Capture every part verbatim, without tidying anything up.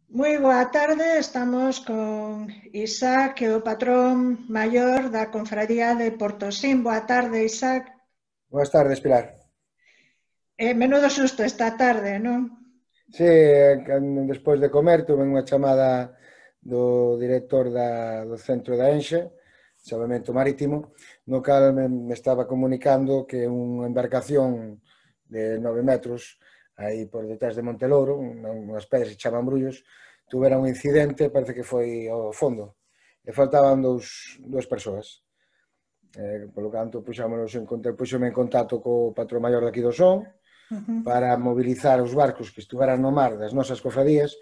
Moi boa tarde, estamos con Isaac, que é o patrón maior da Confradía de Portosín. Boa tarde, Isaac. Boas tardes, Pilar. Eh, menudo susto esta tarde, non? Sí, despois de comer tuve unha chamada do director da, do centro da Enxe, Salvamento Marítimo, no cal me, me estaba comunicando que unha embarcación de nove metros aí por detrás de Montelouro, unhas pedras que chaman Brullos, tuvera un incidente, parece que foi ao fondo, e faltaban dous, dúas persoas. Eh, polo canto, puxámonos en contacto, puxome en contacto co patrón maior daqui do Son, Uh -huh. para mobilizar os barcos que estuveran no mar das nosas cofradías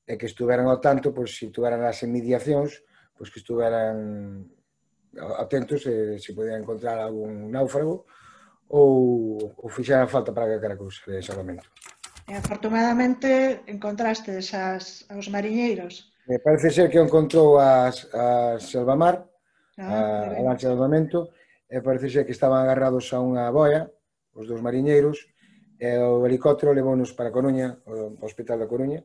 e que estuveran ao tanto, pois, se estuveran as inmediacións, pois que estuveran atentos e se podían encontrar algún náufrago ou, ou fixeran falta para calquera cousa de salvamento. E afortunadamente encontraste as, aos mariñeiros. Me parece ser que encontrou as, as Selvamar, Ah, a, a lancha de salvamento, e parece ser que estaban agarrados a unha boia, os dos mariñeiros, e o helicóptero levounos para Coruña, o Hospital da Coruña,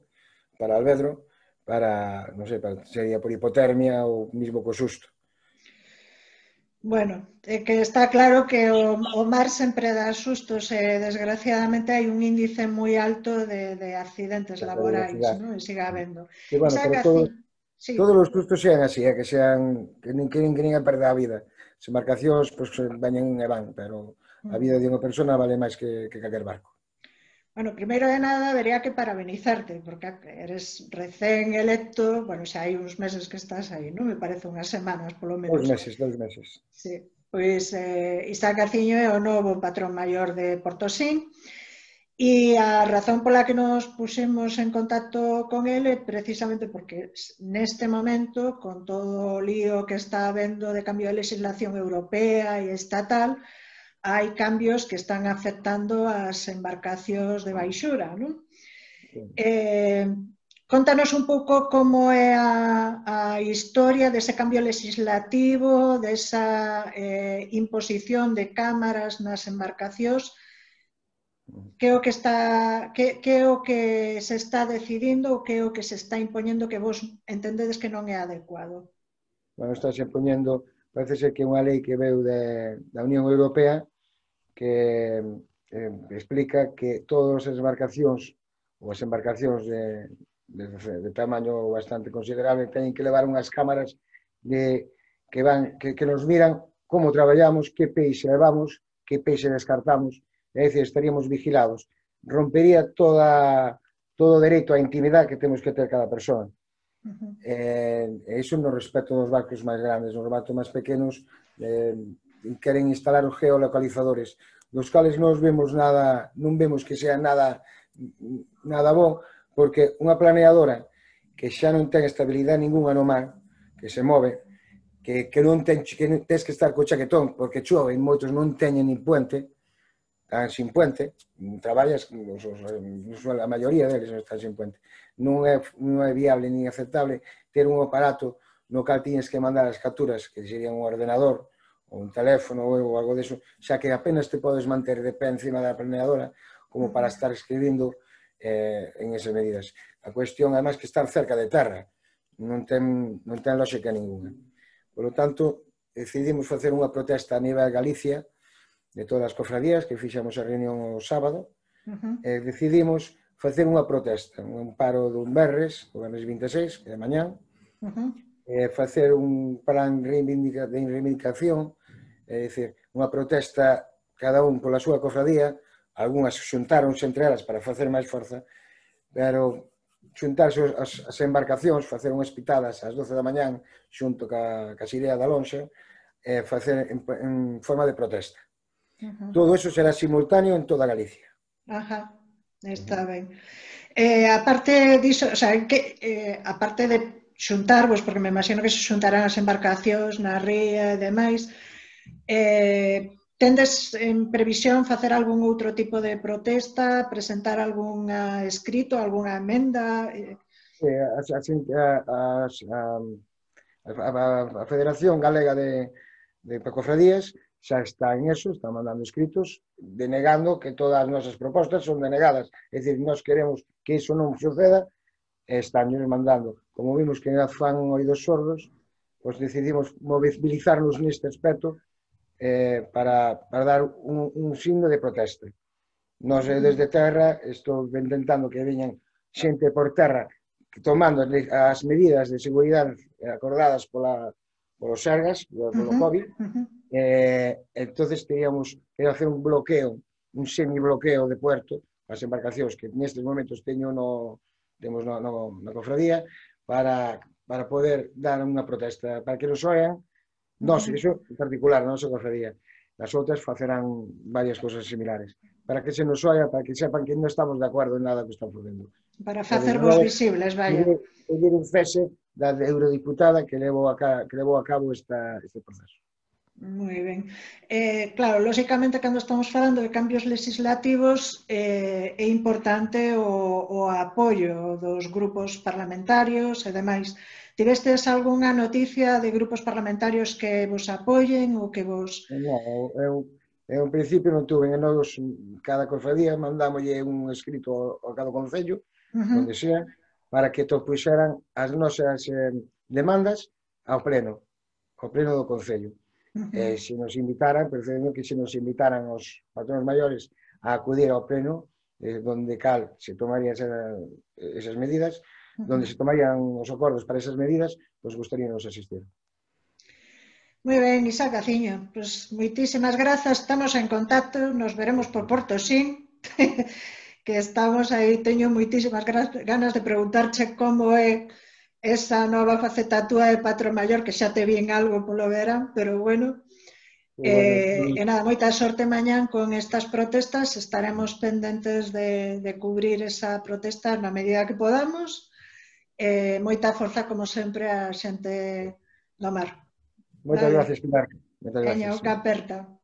para Alvedro, para, non sei, para, sería por hipotermia ou mismo co susto. Bueno, é que está claro que o, o mar sempre dá sustos e desgraciadamente hai un índice moi alto de, de accidentes laborais, non? E siga habendo. Sí, bueno, Isaac, pero todo, así, sí. todos os sustos sean así, é, que sean que nin que, que nin a perder a vida. As embarcacións, pois, veñen e van, pero a vida de unha persona vale máis que, que calquer barco. Bueno, primeiro de nada, habería que parabenizarte, porque eres recén electo, bueno, xa hai uns meses que estás aí, non? Me parece unhas semanas, polo menos. Dous meses, dous meses. Sí, pois eh, Isaac Aciño é o novo patrón maior de Portosín, e a razón pola que nos puxemos en contacto con ele precisamente porque neste momento, con todo o lío que está habendo de cambio de legislación europea e estatal, hai cambios que están afectando as embarcacións de baixura, non? Sí. Eh, contanos un pouco como é a, a historia dese cambio legislativo, desa eh, imposición de cámaras nas embarcacións, que é o que está, que, que é o que se está decidindo ou que é o que se está impoñendo que vos entendedes que non é adecuado? Bueno, está se impoñendo, parece ser que é unha lei que veu de, da Unión Europea que eh, explica que todas as embarcacións ou as embarcacións de, de, de tamaño bastante considerable teñen que levar unhas cámaras de, que, van, que, que nos miran como traballamos, que peixe levamos, que peixe descartamos, é dicir, estaríamos vigilados. Rompería toda, todo o dereito á intimidade que temos que ter cada persoa. Uh -huh. E iso no respecto dos barcos máis grandes, nos barcos máis pequenos eh, queren instalar os geolocalizadores, dos cales non vemos nada, non vemos que sea nada nada bom, porque unha planeadora que xa non ten estabilidade ninguna no mar, que se move, que, que non ten, que tens que estar co chaquetón, porque chove, moitos non teñen nin puente, están sin puente, traballas, a maioría deles non están sin puente. Non é, non é viable nin aceptable ter un aparato no cal tienes que mandar as capturas, que sería un ordenador, ou un teléfono ou algo deso, xa que apenas te podes manter de pé encima da planeadora como para estar escribindo eh, en esas medidas. A cuestión, además, que estar cerca de terra, non ten, non ten lógica ninguna. Por lo tanto, decidimos facer unha protesta a nivel Galicia, de todas as cofradías, que fixamos a reunión o sábado, uh -huh. e decidimos facer unha protesta, un paro dun Berres, o Berres vinte e seis, que é de mañán, uh -huh. e facer un plan de reivindicación, é dicir, unha protesta cada un pola súa cofradía, algunhas xuntáronse entre elas para facer máis forza, pero xuntarse as, as embarcacións, facer unhas pitadas ás doce da mañán xunto ca, ca Xirea da Lonxa, e facer en, en forma de protesta. Uh -huh. Todo eso será simultáneo en toda Galicia. Ajá, está uh -huh. ben. Eh, aparte diso, o sea, que, eh, aparte de xuntarvos, porque me imagino que se xuntarán as embarcacións na ría e demais, eh, tendes en previsión facer algún outro tipo de protesta, presentar algún escrito, algunha emenda? Eh... Eh, a, a, a, a, a Federación Galega de, de Cofradías xa está en eso, está mandando escritos denegando que todas as nosas propostas son denegadas, é dicir, nós queremos que iso non suceda e están mandando. Como vimos que fan oídos sordos, pois decidimos mobilizarnos neste aspecto eh, para, para dar un, un signo de protesta. Nós desde terra estou intentando que veñan xente por terra tomando as medidas de seguridade acordadas pola, polos Sergas, polo COVID, eh, entonces teríamos que hacer un bloqueo, un semibloqueo de puerto, as embarcacións que nestes momentos teño no, temos no, no, na cofradía, para, para poder dar unha protesta, para que nos oian, nós, iso en particular, a nosa cofradía, as outras facerán varias cosas similares, para que se nos oia, para que sepan que non estamos de acordo en nada que están facendo. Para facervos visibles, vaya. Pedir un cese da eurodiputada que levou a, que levou a cabo esta, este proceso. Moi ben. Eh, claro, lóxicamente, cando estamos falando de cambios legislativos, eh, é importante o, o apoio dos grupos parlamentarios e demais. Tivestes algunha noticia de grupos parlamentarios que vos apoyen ou que vos... Non, eu, eu en principio non tuve, nos, cada cofradía mandámoslle un escrito ao, ao cada concello, uh -huh. onde sea, para que topuxeran as nosas eh, demandas ao pleno, ao pleno do concello. Uh -huh. eh, se nos invitaran, preferendo que se nos invitaran os patronos maiores a acudir ao pleno, eh, donde cal se tomarían esa, esas medidas, uh -huh. donde se tomarían os acordos para esas medidas, pois pues gustaríanos asistir. Moi ben, Isaac Aciño, pues moitísimas grazas, estamos en contacto, nos veremos por Portosín, que estamos aí, teño moitísimas ganas de preguntarche como é esa nova faceta túa de patrón maior, que xa te vi en algo polo verán, pero bueno, eh, e nada, moita sorte mañán con estas protestas, estaremos pendentes de, de cubrir esa protesta na medida que podamos, eh, moita forza como sempre a xente do mar. Moitas gracias, Pilar. Moitas gracias. Veña, o que aperta.